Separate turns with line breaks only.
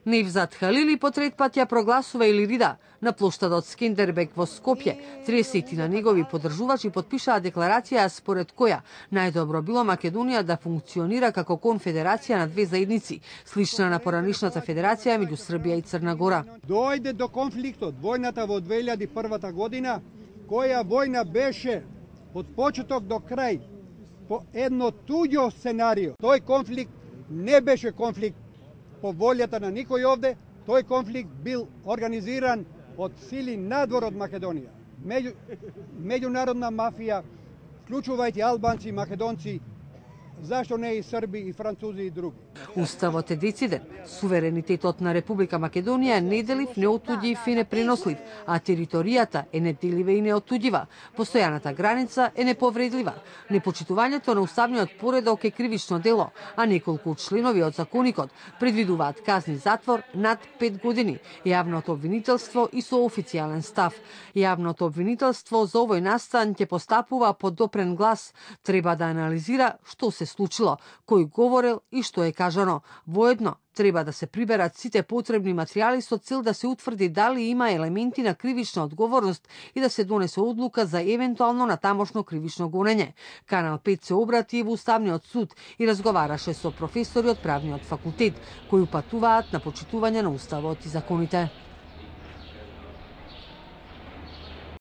Невзат Халили по трет пат ја прогласува Илирида на плоштадот Скендербек во Скопје. 30 на негови поддржувачи потпишаа декларација според која најдобро било Македонија да функционира како конфедерација на две заедници, слична на поранишната федерација меѓу Србија и Црна Гора.
Дојде до конфликтот, војната во 2001 година, која војна беше од почеток до крај по едно туѓо сценарио. Тој конфликт не беше конфликт по волјата на никој овде, тој конфликт бил организиран од сили надвор од Македонија. Меѓународна мафија, вклучувајќи албанци и македонци, зашто не и срби, и французи и други.
Уставот е дециден. Суверенитетот на Република Македонија е неделив, неотуѓив и непренослив, а територијата е неделива и неотуѓива. Постојаната граница е неповредлива. Непочитувањето на уставниот поредок е кривично дело, а неколку членови од законикот предвидуваат казни затвор над 5 години. Јавното обвинителство и со официјален став. Јавното обвинителство за овој настан ќе постапува под допрен глас. Треба да анализира што се случило, кој говорел и што е кажано. Воедно треба да се приберат сите потребни материјали со цел да се утврди дали има елементи на кривична одговорност и да се донесе одлука за евентуално натамошно кривично гонење. Канал 5 се обрати во Уставниот суд и разговараше со професори од правниот факултет, кои упатуваат на почитување на Уставот и законите.